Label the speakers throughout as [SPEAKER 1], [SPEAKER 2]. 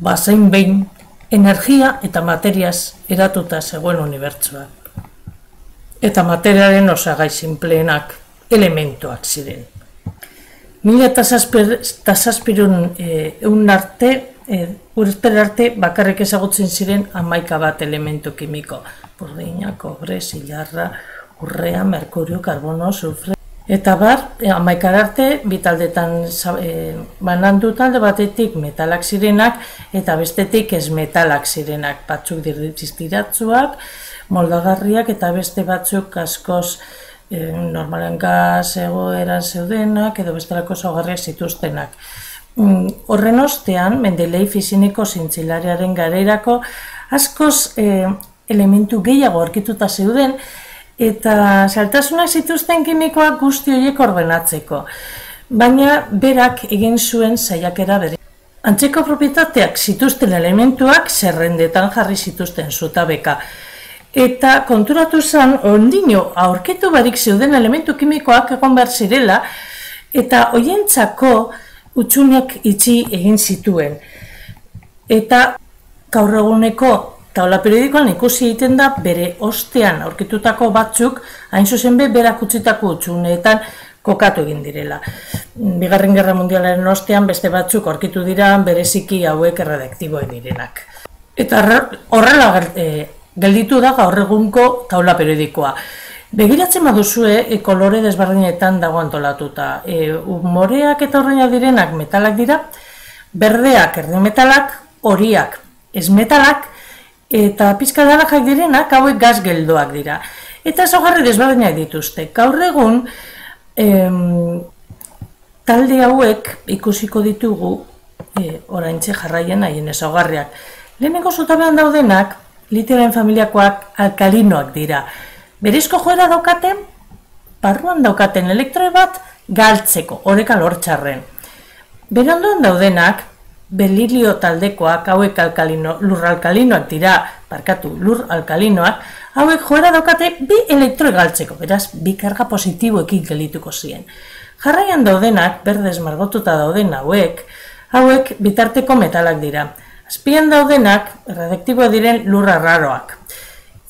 [SPEAKER 1] bazein behin energia eta materiaz eratuta zegoen unibertsoa. Eta materiaren osagai sinpleenak elementuak ziren. 1700 urte arte bakarrik ezagutzen ziren 11 elementu kimiko. Burdina, kobre, zilarra, urrea, merkurio, karbono, sulfre. Eta bar, 11 arte, bitaldetan banandu talde batetik metalak zirenak eta bestetik ez metalak zirenak. Batzuk distiratsuak, moldagarriak eta beste batzuk askoz normalen gaz egoeran zeudenak edo bestelako ezaugarriak zituztenak. Horren ostean, Mendeley fisikiko zientzilariaren garerako askoz elementu gehiago aurkituta zeuden eta zailtasunak zituzten kimikoak guzti horiek ordenatzeko. Baina berak egin zuen saiakera bere. Antzeko propietateak zituzten elementuak zerrendetan jarri zituzten zutabeka. Eta konturatu zen, ondino aurkitu barik zeuden elementu kimikoak egon behar zirela, eta hoientzako hutsuneak itxi egin zituen. Eta gaur eguneko taula periodikoan ikusi egiten da bere ostean aurkitutako batzuk, hain zuzen berak utzitako hutsuneetan kokatu egin direla. Bigarren Gerra Mundialaren ostean beste batzuk aurkitu dira bereziki hauek erradioaktiboak direnak. Eta horrela gelditu da gaur egungo taula periodikoa. Begiratzen baduzue kolore desberdinetan dago antolatuta. Moreak eta urreinak direnak metalak dira, berdeak erdimetalak, horiak esmetalak, eta pixka naranjak direnak hauek gas geldoak dira. Eta ezaugarri desberdinak dituzte. Gaur egun talde hauek ikusiko ditugu oraintxe jarraien haien ezaugarriak. Lehenengo zutabean daudenak litioaren familiakoak alkalinoak dira. Berezko joera daukaten, barruan daukaten elektroi bat galtzeko, oreka lortxarren. Berandoan daudenak, berilio taldekoak, hauek lur alkalinoak dira, lur alkalinoak, hauek joera daukate bi elektroi galtzeko, beraz, bi karga positiboekin gelituko ziren. Jarraian daudenak, berdez margotuta dauden hauek bitarteko metalak dira. Azpian daudenak, erradioaktiboak diren lur arraroak.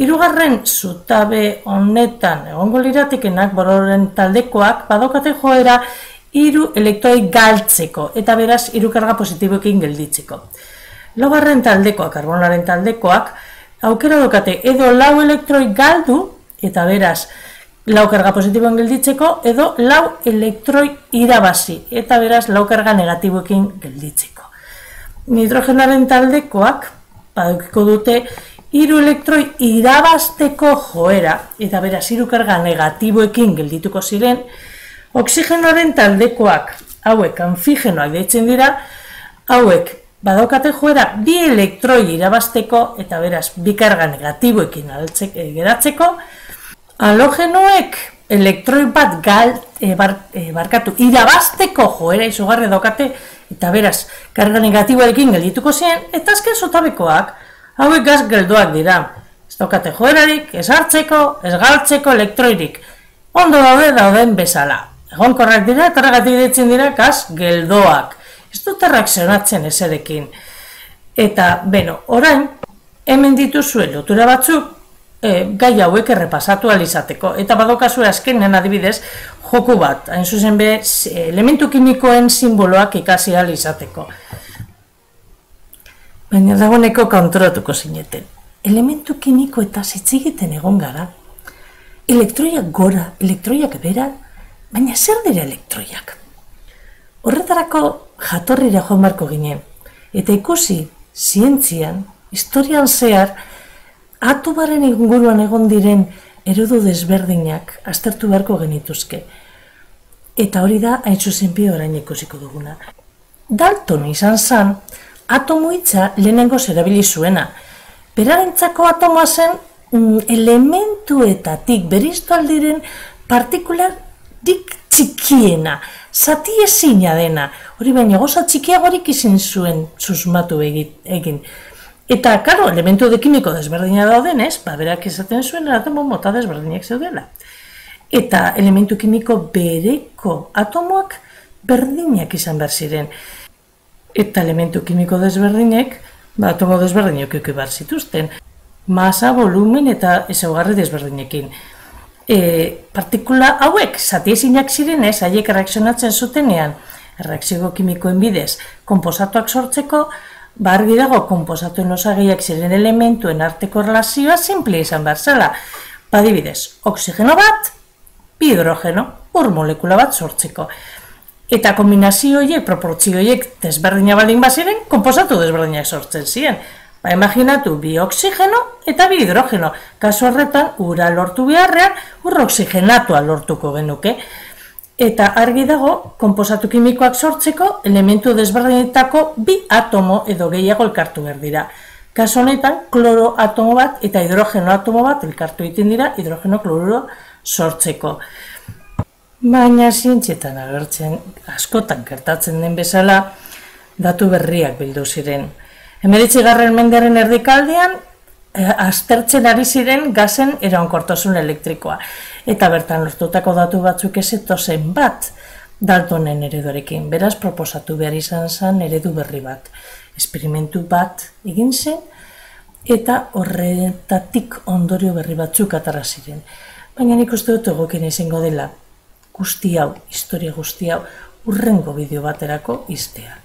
[SPEAKER 1] Hirugarren zutabe honetan egongo liratikenak bororen taldekoak badaukate joera 3 elektroi galtzeko eta beraz 3 karga positiboekin gelditzeko. Laugarren taldekoak, karbonoaren taldekoak, aukera daukate edo 4 elektroi galdu eta beraz 4 karga positiboen gelditzeko edo 4 elektroi irabazi eta beraz 4 karga negatiboekin gelditzeko. Nitrogenaren taldekoak badukiko dute 3 elektroi irabazteko joera, eta beraz 3 karga negatiboekin geldituko ziren. Oxigenoaren taldekoak, hauek anfigenoak deitzen dira, hauek badaukate joera 2 elektroi irabazteko, eta beraz 2 karga negatiboekin geratzeko. Halogenoek elektroi bat irabazteko joera izugarri daukate, eta beraz karga negatiboekin geldituko ziren, eta azken zutabekoak, hauek gas geldoak dira. Ez daukate joerarik, ez hartzeko, ez galtzeko elektroirik. Ondo dauden bezala. Egonkorrak dira eta horregatik deitzen dira gas geldoak. Ez dut erreakzionatzen ezerekin. Eta, orain, hemen dituzue lotura batzuk gai hauek errepasatu alizateko. Eta badokazue azkenen adibidez joku bat. Hain zuzen elementu kimikoen simboloak ikasi alizateko. Baina dagoeneko konturatuko zineten. Elementu kimiko eta zitzigiten egon gara. Elektroiak gora, elektroiak bera, baina zer dira elektroiak? Horretarako jatorrira joan beharko ginen. Eta ikusi, zientzian, historian zehar, atomaren inguruan egon diren eredu desberdinak aztertu beharko genituzke. Eta hori da, hain zuzen orain ikusiko duguna. Dalton izan zen, atomo hitza lehenengo erabili zuena. Berarentzako atomoa zen elementuetatik bereiztu aldiren partikularrik txikiena, zati ezina dena. Hori baina goza txikiagorik izin zuen susmatu egin. Eta, karo, elementu kimiko desberdina daudenez, berak esaten zuen atomo mota desberdinak zeudela. Eta elementu kimiko bereko atomoak berdinak izan behar ziren. Eta elementu kimiko desberdinek, atomo desberdinek eduki behar zituzten. Masa, volumen eta ezaugarri desberdinekin. Partikula hauek zatiezinak zirenez, haiek erreakzionatzen zutenean, erreakzio kimikoen bidez, konposatuak sortzeko, argi dago konposatuen osagaiak ziren elementuen arteko relazioa simple izan behar zela. Adibidez, oxigeno bat, bi hidrogeno, ur molekula bat sortzeko. Eta kombinazio horiek, proportzio horiek desberdina baldin baziren, konposatu desberdinak sortzen ziren. Imaginatu, bi oxigeno eta bi hidrogeno. Kasu horretan, ura lortu beharrean, ur oxigenatua lortuko genuke. Eta argi dago, konposatu kimikoak sortzeko, elementu desberdinetako bi atomo edo gehiago elkartu behar dira. Kasu honetan, kloro atomo bat eta hidrogeno atomo bat elkartu egiten dira hidrogeno kloruro sortzeko. Baina zientzietan agertzen, askotan gertatzen den bezala, datu berriak bildu ziren. 19. mendearen erdikaldean, aztertzen ari ziren gazen iraunkortasun elektrikoa. Eta bertan lortutako datu batzuk ez zetozen bat Daltonen ereduarekin. Beraz, proposatu behar izan zen eredu berri bat. Esperimentu bat egin zen, eta horretatik ondorio berri batzuk atara ziren. Baina nik uste dut egokien izango dela, guzti hau, historia guzti hau, hurrengo bideo baterako iztea.